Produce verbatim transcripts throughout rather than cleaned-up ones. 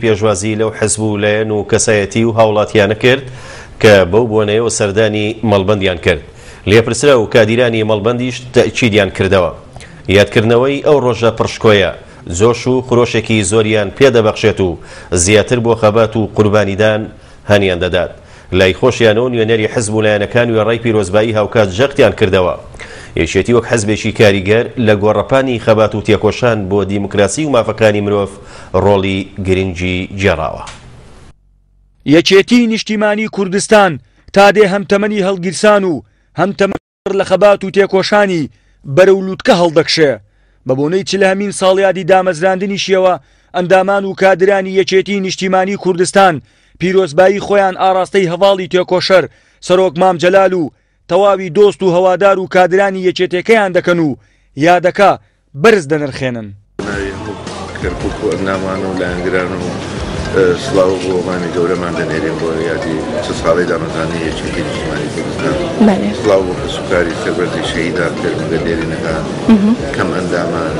پێشوازی لەو حزب و لایەن و کەسایەتی و هاوڵاتیانە کرد کە بەو بۆنەیەوە سەردانی مەڵبەندیان کرد. لێپرسرا و کادیرانی مەڵبەندیش تەئکیدیان کردەوە. یادکردنەوەی ئەو ڕۆژە پڕشکۆیە جۆش و خرۆشێکی زۆریان پێدەبەخشێت و زیاتر بۆ خەبات و قوربانیدان هەنیان دەدات. لای خۆشیانەوە نوێنەری حزب و لایەنەکان وێڕای پیرۆزبایی هاوکات جەختیان کردەوە. یەکێتی وەک حزبێکی کاریگەر لە گۆڕەپانی خەبات و تێکۆشان بۆ دیموکراسی و مافەکانی مرۆڤ ڕۆڵی گرنگی گێڕاوە. یەکێتی نیشتیمانی کوردستان تا دێ هەم تەمەنی هەڵگیرسان و هەم تەمەن لە خەبات و تێکۆشانی بەرەو لووتکە هەڵدەکشێ. بە بۆنەی چلەهەمین ساڵیادی دامەزراندنیشیەوە ئەندامان و کادرانی یەکێتی نیشتیمانی کوردستان پیرۆزبایی خۆیان ئاراستەی هەواڵی تێکۆشەر سەرۆک مام جەلال و تەواوی دۆست و هەوادار و کادرانی یەکێتەکەیان دەکەن و یادەکە بەرز دەنرخێنن. کەرکوک و ئەندامان و لایەنگران و سڵاو بۆ مامی گەورەمان دەنێرین بۆ یادی چل ساڵەی دامەزراندنی یەکێتی نیشتیمانی کوردستان. سڵاو بۆ کەسوکاری سەربەرزی شەهیدان، پێشمەرگە دێرینەکان، کەم ئەندامان،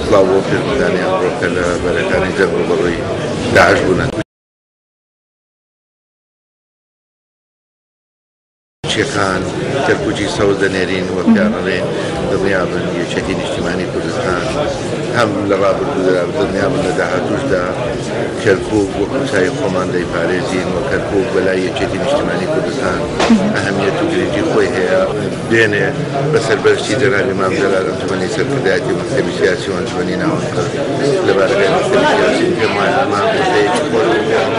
سڵاو بۆ پێشمەرگانی ئەمڕۆ کە لە بەرەکانی جەنگ ڕووبەڕووی داعش بوونە. چیەکان کەرکوکی سەوز دەنێرین و پیانەڵێن دڵنیابن یەکێتی نیشتیمانی کوردستان هەم لە ڕابردوودا دڵنیابن لە داهاتووشدا کەرکوک وەکو چای خۆمان دەیپارێزین و کەرکوک بەلای یەکێتی نیشتیمانی کوردستان ئەهمیەت و گرنگی خۆی هەیە. دوێنێ بە سەرپەرشتی جەنابی مام جەلال ئەنجومەنی سەرکردایەتی مەکتەبی سیاسی و ئەنجومەنی ناوەند لە بارەگای مەکتەبی سیاسی پێم وایە ئەمە مژدەیەکی خۆش بوو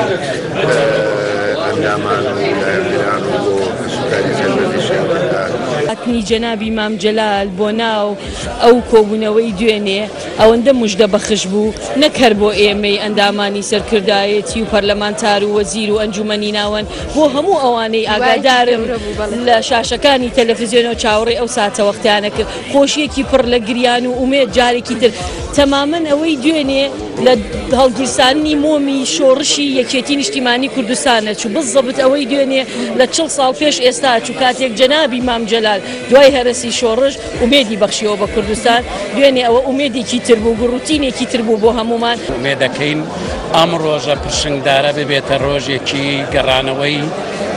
ئەندامان و لایەنگران و بۆ کەسوکاری سەربەرزی شەهیدەکان. هاتنی جەنابی مام جەلال بۆ ناو ئەو کۆبوونەوەی دوێنێ ئەوەندە مژدە بەخش بوو، نەک هەر بۆ ئێمەی ئەندامانی سەرکردایەتی و پەرلەمانتار و وەزیر و ئەنجومەنی ناوەند، بۆ هەموو ئەوانەی ئاگادارن لە شاشەکانی تەلەڤیزیۆنەوە چاوەڕێی ئەو ساتە وەختیانە کرد. خۆشیەکی پڕ لە گریان و ئومێد جارێکی تر تەمامەن ئەوەی دوێنێ لە هەڵگیرسانی مۆمی شۆڕشی یەکێتی نیشتیمانی کوردستانە چوو، بزەبت ئەوەی دوێنێ لە چڵ ساڵ پێش ئێستا چوو کاتێک جەنابی مام جەلال دوای هەرەسی شۆڕش ئومێدی بەخشیەوە بە کوردستان. دوێنێ ئەوە ئومێدێکی تر بوو، گوڕوتینێکی تر بوو بۆ هەمومان. ئومێدەکەین ئەم ڕۆژە پرشنگدارە ببێتە ڕۆژێکی گەڕانەوەی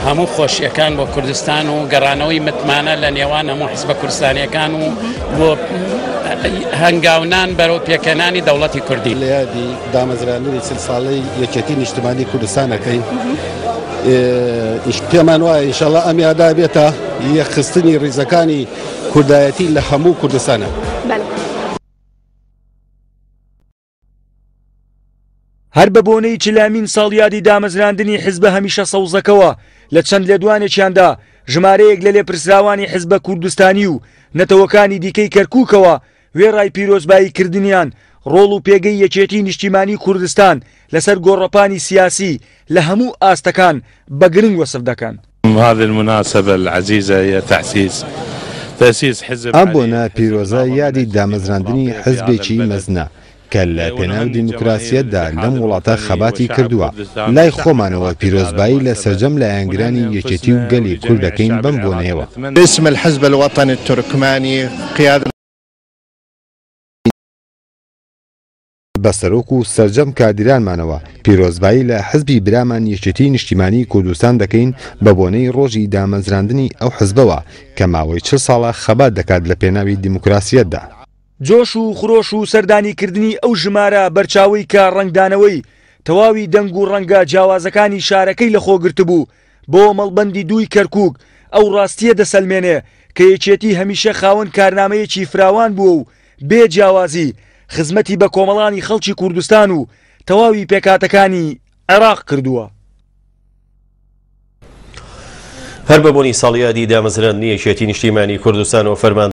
هەموو خۆشیەکان بۆ کوردستان و گەڕانەوەی متمانە لە نێوان هەموو حزبە کوردستانیەکان و بۆ هەنگاونان بەرەو پێکەنانی دەوڵەتی کوردی. لە یادی دامەزراندنی چل ساڵەی یەکێتی نیشتمانی کوردستانەکەین پێمان وایە ئینشەڵڵا ئەم یادا بێتە یەکخستنی ڕیزەکانی کوردایەتی لە هەموو کوردستانە. هەر بە بۆنەی چلامین ساڵیادی دامەزراندنی حزبە هەمیشە سەوزەکەوە لە چەند لێدوانێکیاندا ژمارەیەک لە لێپرسراوانی حزبە کوردستانی و نەتەوەکانی دیکەی کەرکوکەوە وێڕای پیرۆزبایی کردنیان ڕۆڵ و پێگەی یەکێتی نیشتیمانی کوردستان لەسەر گۆڕەپانی سیاسی لە هەموو ئاستەکان بە گرنگ وەسف دەکەن. هذه المناسبة العزيزة هي تأسيس تأسيس حزب ئەم بۆنە پیرۆزە یادی دامەزراندنی حزبێکی مەزنە کە لە پێناو دیموکراسیەتدا لەم وڵاتە خەباتی کردووە. لای خۆمانەوە پیرۆزبایی لە سەرجەم لایەنگرانی یەکێتی و گەلی کورد دەکەین بەم بۆنەیەوە. باسم الحزب الوطني التركماني قيادة بە سەرۆک و سەرجەم کادیرانمانەوە پیرۆزبایی لە حزبی برامان یەکێتی نیشتیمانی کوردستان دەکەین بە بۆنەی ڕۆژی دامەزراندنی ئەو حزبەوە کە ماوەی چل ساڵە خەبات دەکات لە پێناوی دیموکراسیەتدا. جۆش و خرۆش و سەردانیکردنی ئەو ژمارە بەرچاوەی کە ڕەنگدانەوەی تەواوی دەنگ و ڕەنگە جیاوازەکانی شارەکەی لەخۆگرتبوو بۆ مەڵبەندی دووی کەرکوک ئەو ڕاستیە دەسەلمێنێ کە یەکێتی هەمیشە خاوەن کارنامەیەکی فراوان بووە و بێ جیاوازی خزمەتی بە کۆمەڵانی خەڵکی کوردستان و تەواوی پێکاتەکانی عێراق کردووە. هەر بە بۆنی ساڵیادی دامەزراندنی یەکێتی نیشتیمانی کوردستان و فەرمان